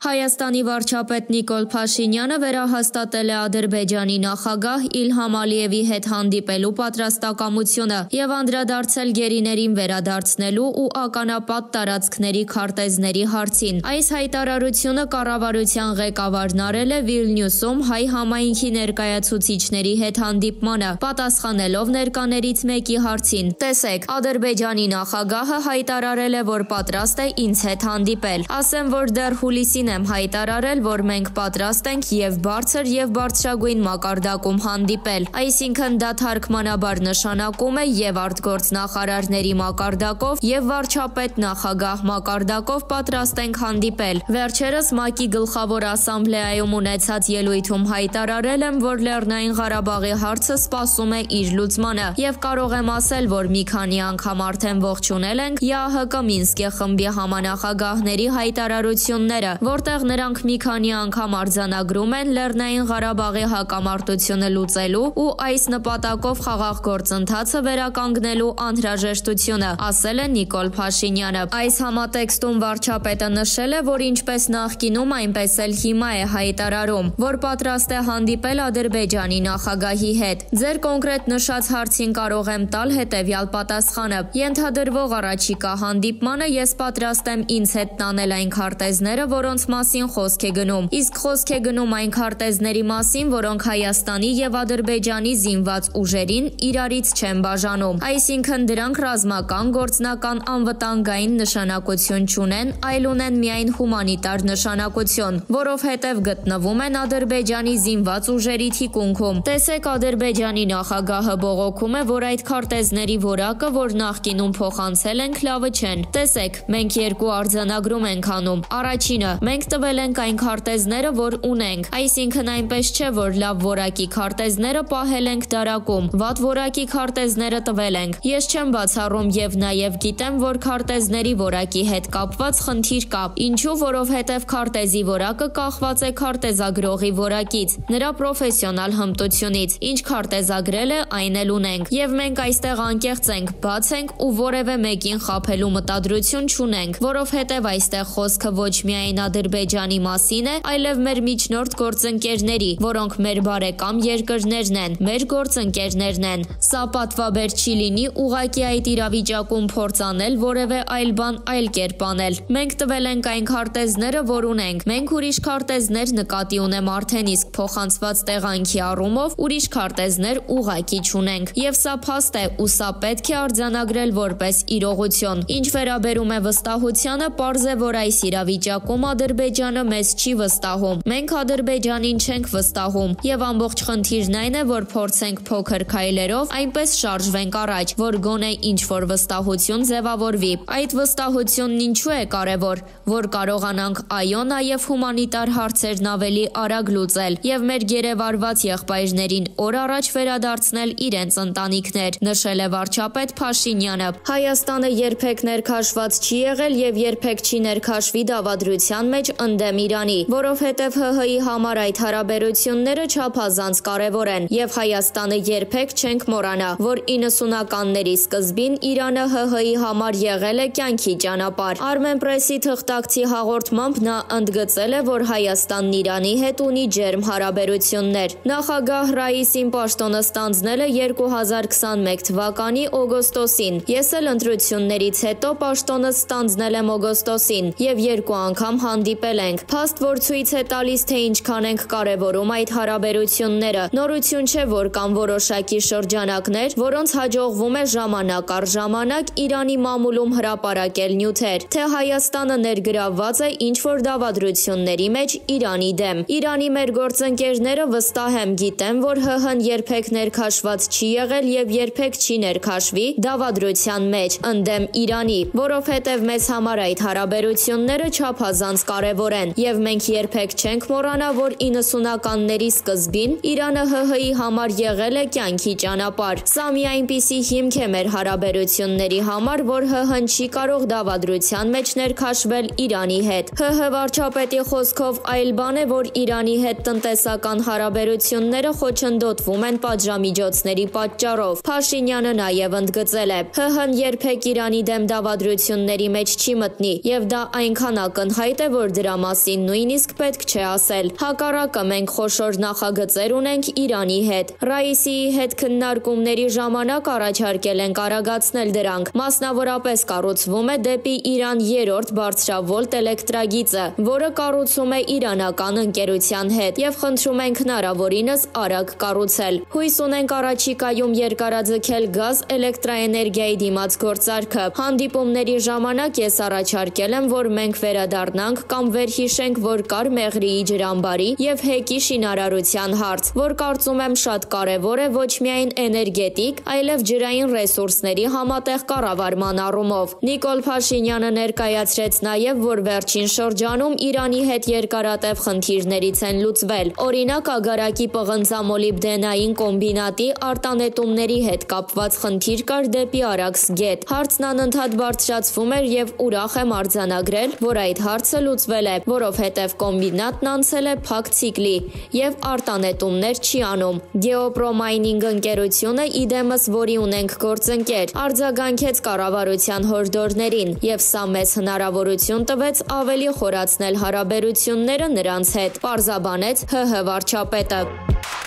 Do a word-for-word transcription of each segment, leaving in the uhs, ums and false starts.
Հայաստանի վարչապետ Նիկոլ Փաշինյանը վերահաստատել է Ադրբեջանի նախագահ Իլհամ Ալիևի հետ հանդիպելու պատրաստակամությունը և անդրադարձել գերիներին վերադարձնելու ու ականապատ տարածքների քարտեզների հարցին։ Այս հայտարարությունը կառավարության ղեկավարն արել է Վիլնյուսում հայ համայնքի ներկայացուցիչների հետ հանդիպմանը, պատասխանելով ներկաներից մեկի հարցին։ Տեսեք, Ադրբեջանի նախագահը հայտարարել է, որ պատրաստ է ինձ հետ հանդիպել։ Ասեմ, որ դեռ հուլիսին եմ հայտարարել, որ մենք պատրաստ ենք և բարձր և բարձրագույն մակարդակում հանդիպել, այսինքն դա թարգմանաբար նշանակում է և արտգործնախարարների մակարդակով և վարչապետ նախագահ մակարդակով պատրաստ ենք հանդիպել։ Վերջերս ՄԱԿ-ի գլխավոր ասամբլեայում ունեցած ելույթում հայտարարել եմ, որ Լեռնային Ղարաբաղի հարցը սպասում է իր լուծմանը և կարող եմ ասել, որ մի քանի անգամ արդեն ողջունել ենք ԵԱՀԿ Մինսկի խմբի համանախագահների հայտարարությունները, որտեղ նրանք մի քանի անգամ արձանագրում են Լեռնային Ղարաբաղի հակամարտությունը լուծելու ու այս նպատակով խաղաղ գործընթացը վերականգնելու անհրաժեշտությունը, ասել է Նիկոլ Փաշինյանը։ Այս համատեքստում վարչապետը նշել է, որ ինչպես նախկինում, այնպես էլ հիմա է հայտարարում, որ պատրաստ է հանդիպել Ադրբեջանի նախագահի հետ։ Ձեր կոնկրետ նշած հարցին կարող եմ տալ հետևյալ պատասխանը։ Ենթադրվող առաջիկա հանդիպմանը ես պատրաստ եմ ինձ հետ տանել այն քարտեզները, որոնց մասին խոսք է գնում, իսկ խոսք է գնում այն քարտեզների մասին, որոնք Հայաստանի և Ադրբեջանի զինված ուժերին իրարից չեն բաժանում, այսինքն դրանք ռազմական, գործնական, անվտանգային նշանակություն չունեն, այլ ունեն միայն հումանիտար նշանակություն, որովհետև գտնվում են Ադրբեջանի զինված ուժերի թիկունքում։ Տեսեք, Ադրբեջանի նախագահը բողոքում է, որ այդ քարտեզների որակը, որ նախկինում փոխանցել ենք, լավը չեն։ Տեսեք, մենք երկու արձանագրում ենք անում։ Առաջինը, մենք տվել ենք այն քարտեզները, որ ունենք, այսինքն այնպես չէ, որ լավ որակի քարտեզները պահել ենք դարակում, վատ որակի քարտեզները տվել ենք։ Ես չեմ բացառում և նաև գիտեմ, որ քարտեզների որակի հետ կապված խնդիր կա։ Ինչու, որովհետև քարտեզի որակը կախված է քարտեզագրողի որակից, նրա պրոֆեսիոնալ հմտությունից, ինչ քարտեզագրել է, այն էլ ունենք, և մենք այստեղ անկեղծ ենք, բաց ենք ու որևէ մեկին խաբելու մտադրություն չունենք, որովհետև այստեղ խոսքը ոչ միայն Ադրբեջանի մասին է, այլև մեր միջնորդ գործընկերների, որոնք մեր բարեկամ երկրներն են, մեր գործընկերներն են։ Սա պատվաբեր չի լինի ուղղակի այդ իրավիճակում փորձ անել որևէ այլ բան այլ կերպ անել։ Մենք տվել ենք այն քարտեզները, որ ունենք։ Մենք ուրիշ քարտեզներ նկատի ունեմ արդեն իսկ փոխանցված տեղանքի առումով ուրիշ քարտեզներ ուղղակի չունենք։ Եվ սա փաստ է ու սա պետք է արձանագրել որպես իրողություն։ Ինչ վերաբերում է վստահությանը, պարզ է, որ այս իրավիճակում Ադրբեջանը մեզ չի վստահում։ Մենք Ադրբեջանին չենք վստահում և ամբողջ խնդիրն այն է, որ փորձենք փոքր քայլերով այնպես շարժվենք առաջ, որ գոնե ինչ-որ վստահություն ձևավորվի։ Այդ վստահությունն ինչու է կարևոր, որ կարողանանք այո նաև հումանիտար հարցերն ավելի արագ լուծել և մեր գերեվարված եղբայրներին օր առաջ վերադարձնել իրենց ընտանիքներ, նշել է վարչապետ Փաշինյանը։ Հայաստանը երբեք ներքաշված չի եղել և երբեք չի ներքաշվի դավադրության մեջ ընդդեմ Իրանի, որովհետև ՀՀ-ի համար այդ հարաբերությունները չափազանց կարևոր են և Հայաստանը երբեք չենք մոռանա, որ իննսունականների սկզբին Իրանը ՀՀ-ի համար եղել է կյանքի ճանապարհ։ Armenpress-ի թղթակցի հաղորդմամբ նա ընդգծել է, որ Հայաստանն Իրանի հետ ունի ջերմ հարաբերություններ։ Նախագահ Ռաիսին պաշտոնը ստանձնել է երկու հազար քսանմեկ թվականի օգոստոսին։ Ես էլ ընտրություններից հետո պաշտոնը ստանձնել եմ օգոստոսին և երկու անգամ հանդիպել ենք։ Փաստ, որ ցույց է տալիս, թե ինչքան ենք կարևորում այդ հարաբերությունները։ Նորություն չէ, որ կան որոշակի շրջանակներ, որոնց հաջողվում է ժամանակ առ ժամանակ Իրանի մամուլում հրապարակել նյութեր, թե Հայաստանը ներգրավված է ինչ-որ դավադրությունների մեջ Իրանի դեմ։ Իրանի մեր գործընկերները վստահ եմ գիտեմ, որ ՀՀ-ն երբեք ներքաշված չի եղել և երբեք չի ներքաշվի դավադրության մեջ ընդդեմ Իրանի, որովհետև մեզ համար այդ հարաբերությունները չափազանց կարևոր են և մենք երբեք չենք մոռանա, որ իննսունականների սկզբին Իրանը ՀՀ-ի համար եղել է կյանքի ճանապարհ։ Սա մի այնպիսի հիմք է մեր հարաբերությունների համար, որ ՀՀ-ն չի կարող դավադրության մեջ ներքաշվել Իրանի հետ։ ՀՀ վարչապետի խոսքով այլ բան է, որ Իրանի հետ տնտեսական հարաբերությունները խոչընդոտվում են պատժամիջոցների պատճառով։ Փաշինյանը նաև ընդգծել է. ՀՀ-ն երբեք Իրանի դեմ դավադրությունների մեջ չի մտնի և դա այնքան ակնհայտ է, որ որ դրա մասին նույնիսկ պետք չէ ասել։ Հակառակը մենք խոշոր նախագծեր ունենք Իրանի հետ։ Ռաիսիի հետ քննարկումների ժամանակ առաջարկել ենք արագացնել դրանք։ Մասնավորապես կառուցվում է դեպի Իրան երրորդ բարձրավոլտ էլեկտրագիծը, որը կառուցում է իրանական ընկերության հետ, եւ խնդրում ենք հնարավորինս արագ կառուցել։ Հույս ունենք առաջիկայում երկարաձգել գազ էլեկտրաէներգիայի դիմաց գործարքը։ Հանդիպումների ժամանակ ես առաջարկել եմ, որ մենք վերադառնանք կամ վերհիշենք, որ կար Մեղրիի ջրամբարի եւ հեկի շինարարության հարց, որ կարծում եմ շատ կարեւոր է ոչ միայն էներգետիկ, այլև ջրային ռեսուրսների համատեղ կառավարման առումով։ Նիկոլ Փաշինյանը ներկայացրեց նաեւ, որ վերջին շրջանում Իրանի հետ երկարատև խնդիրներից են լուծվել։ Օրինակ, ագարակի պղնձամոլիբդենային կոմբինատի արտանետումների հետ կապված խնդիր կար դեպի Արաքս գետ։ Հարցն անընդհատ բարձրացվում էր եւ ուրախ եմ արձանագրել, որ այդ հարցը լուծվել է, որովհետեւ կոմբինատն անցել է փակ ցիկլի եւ արտանետումներ չի անում։ Գեոպրոմայնինգ ընկերությունը իդեմս, որի ունենք գործընկեր, արձագանքեց կառավարության հորդորներին եւ սա մեզ հնարավորություն տվեց ավելի խորացնել հարաբերությունները նրանց հետ, պարզաբանեց ՀՀ վարչապետը։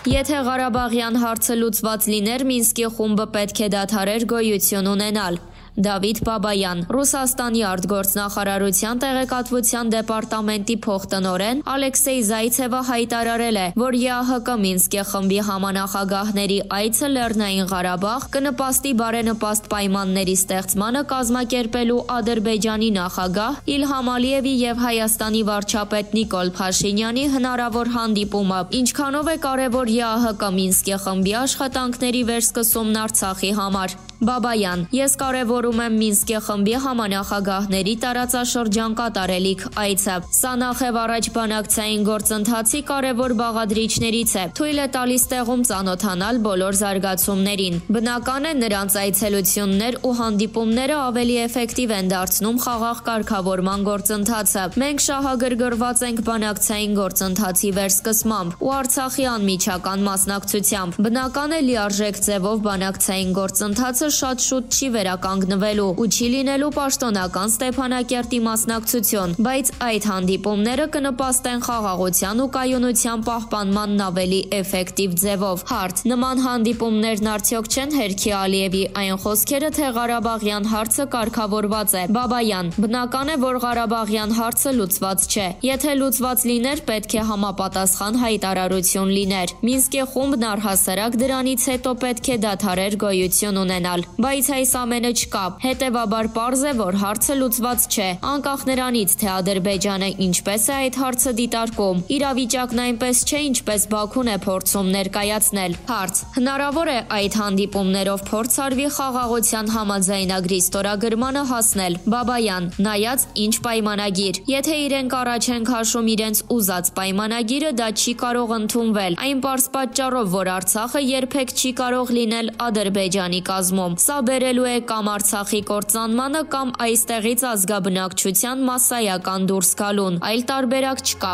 Եթե Ղարաբաղյան հարցը լուծված լիներ, Մինսկի խումբը պետք է դադարեր գոյություն ունենալ։ Դավիթ Բաբայան, Ռուսաստանի արտգործնախարարության տեղեկատվության դեպարտամենտի փոխտնօրեն Ալեքսեյ Զայցևը հայտարարել է, որ ԵԱՀԿ Մինսկի խմբի համանախագահների այցը Լեռնային Ղարաբաղ կնպաստի բարենպաստ պայմանների ստեղծմանը կազմակերպելու Ադրբեջանի նախագահ Իլհամ Ալիևի եւ Հայաստանի վարչապետ Նիկոլ Փաշինյանի հնարավոր հանդիպումը, ինչքանով է կարևոր ԵԱՀԿ Մինսկի խմբի աշխատանքների վերսկսումն Արցախի համար։ Բաբայան, ես կարևորում եմ Մինսկի խմբի համանախագահների տարածաշրջան կատարելիք այցը։ Սա նախև առաջ բանակցային գործընթացի կարևոր բաղադրիչներից է, թույլ է տալիս տեղում ծանոթանալ բոլոր զարգացումներին։ Բնական է, նրանց այցելություններ ու հանդիպումները ավելի էֆեկտիվ են դարձնում խաղաղ կարգավորման գործընթացը։ Մենք շահագրգռված ենք բանակցային գործընթացի վերսկսմամբ ու Արցախի անմիջական մասնակցությամբ։ Բնական է, լիարժեք ձևով բանակցային գործընթացը շատ շուտ չի վերականգնվելու ու չի լինելու պաշտոնական Ստեփանակերտի մասնակցություն, բայց այդ հանդիպումները կնպաստեն խաղաղության ու կայունության պահպանմանն ավելի էֆեկտիվ ձևով։ Հարց. նման հանդիպումներն արդյոք չեն հերքի Ալիևի այն խոսքերը, թե Ղարաբաղյան հարցը կարգավորված է։ Բաբայան, բնական է, որ Ղարաբաղյան հարցը լուծված չէ։ Եթե լուծված լիներ, պետք է համապատասխան հայտարարություն լիներ։ Մինսկի խումբն առհասարակ դրանից հետո պետք է դադարեր գոյություն ունենալ։ Բայց այս ամենը չկա, հետևաբար պարզ է, որ հարցը լուծված չէ, անկախ նրանից, թե Ադրբեջանը ինչպես է այդ հարցը դիտարկում։ Իրավիճակն այնպես չէ, ինչպես Բաքուն է փորձում ներկայացնել։ Հարց. հնարավոր է այդ հանդիպումներով փորձ արվի խաղաղության համաձայնագրի ստորագրմանը հասնել։ Բաբայան, նայած ինչ պայմանագիր։ Եթե իրենք առաջ են քաշում իրենց ուզած պայմանագիրը, դա չի կարող ընդունվել։ Այն պարզ պատճառով, որ Արցախը երբեք չի կարող լինել Ադրբեջանի կազմում։ Սա բերելու է կամ Արցախի կործանմանը, կամ այստեղից ազգաբնակչության մասսայական դուրս գալուն, այլ տարբերակ չկա։